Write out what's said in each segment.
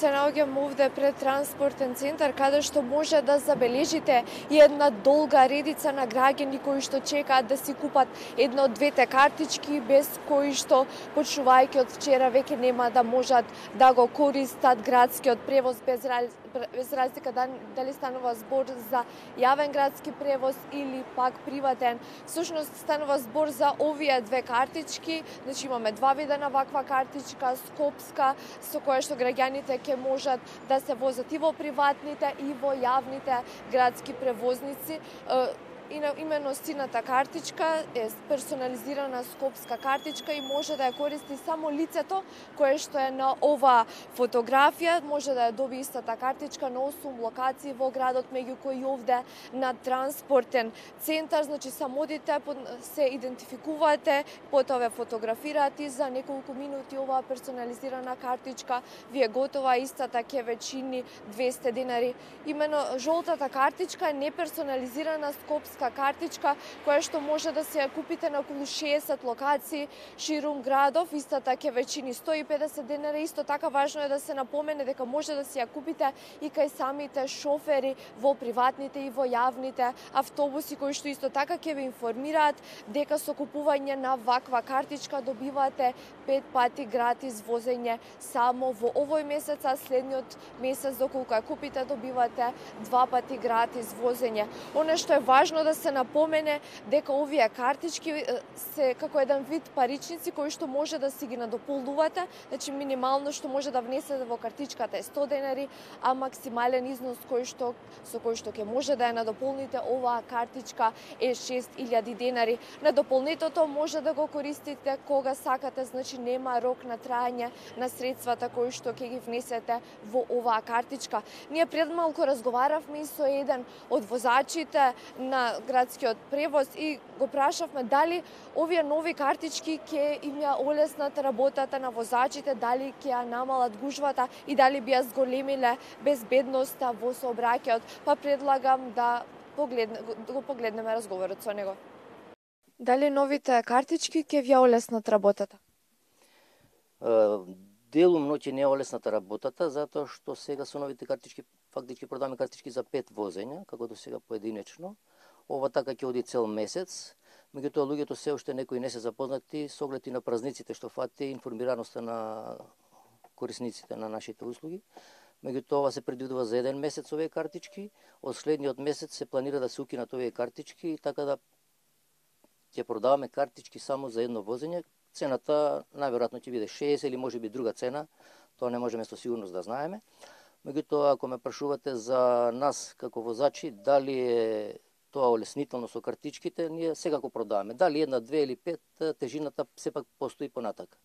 се наоѓам овде пред транспортен центар, каде што може да забележите една долга редица на граѓани кои што чекаат да си купат една од двете картички, без кои што, почнувајќи од вчера, веќе нема да можат да го користат градскиот превоз, без разлика дали станува збор за јавен градски превоз или пак приватен. Всушност станува збор за овие две картички. Значи имаме два вида на ваква картичка, скопска, со која што граѓаните ќе можат да се возат и во приватните и во јавните градски превозници. Имено сината картичка е персонализирана скопска картичка и може да ја користи само лицето кое што е на оваа фотографија. Може да ја доби истата картичка на 8 локации во градот, меѓу кои овде на транспортен центар. Значи само одите, се идентификувате, потоа ве фотографираат и за неколку минути оваа персонализирана картичка ви е готова, истата ќе ве чини 200 денари. Имено жолтата картичка е неперсонализирана скопска картичка која што може да се ја купите на околу 60 локации ширум градов, истата ќе ве чини 150 денари. Исто така важно е да се напомене дека може да се ја купите и кај самите шофери во приватните и во јавните автобуси, кои што исто така ќе ве информираат дека со купување на ваква картичка добивате 5 пати гратис возење само во овој месец, а следниот месец доколку ја купите добивате 2 пати гратис возење. Она што е важно да се напомене дека овие картички се како еден вид паричници кои што може да си ги надополнувате. Значи минимално што може да внесете во картичката е 100 денари, а максимален износ со кој што ќе може да ја надополните оваа картичка е 6000 денари. Надополнетото може да го користите кога сакате, значи нема рок на траење на средствата кои што ќе ги внесете во оваа картичка. Ние пред малку разговаравме и со еден од возачите на градскиот превоз и го прашавме дали овие нови картички ќе им ја олеснат работата на возачите, дали ќе ја намалат гужвата и дали би ја зголемиле безбедноста во сообраќајот. Па предлагам да го погледнеме разговорот со него. Дали новите картички ќе ви ја олеснат работата? Делумно ќе не е олесната работата, затоа што сега со новите картички фактички продаваме картички за 5 возења, како до сега поединечно. Ова така ќе оди цел месец, меѓутоа луѓето се уште некои не се запознати со оглед и на празниците што фати информираноста на корисниците на нашите услуги. Меѓутоа ова се предвидува за 1 месец овие картички, од следниот месец се планира да се укинат овие картички, така да ќе продаваме картички само за едно возење. Цената најверојатно ќе биде 60 или можеби друга цена, тоа не можеме со сигурност да знаеме. Меѓутоа ако ме прашувате за нас како возачи, дали е тоа олеснително со картичките, ние секако продаваме. Дали 1, 2 или 5, тежината сепак постои понатака.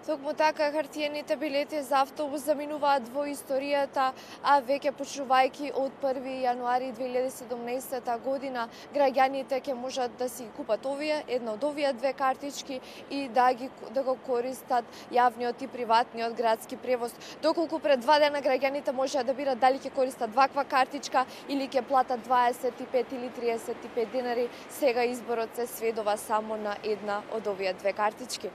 Токму така, хартиените билети за автобус заминуваат во историјата, а веќе почнувајќи од 1 јануари 2017 година, граѓаните ќе можат да си купат една од овие две картички и да го користат јавниот и приватниот градски превоз. Доколку пред 2 дена граѓаните можеа да бират дали ќе користат ваква картичка или ќе платат 25 или 35 денари, сега изборот се сведува само на една од овие две картички.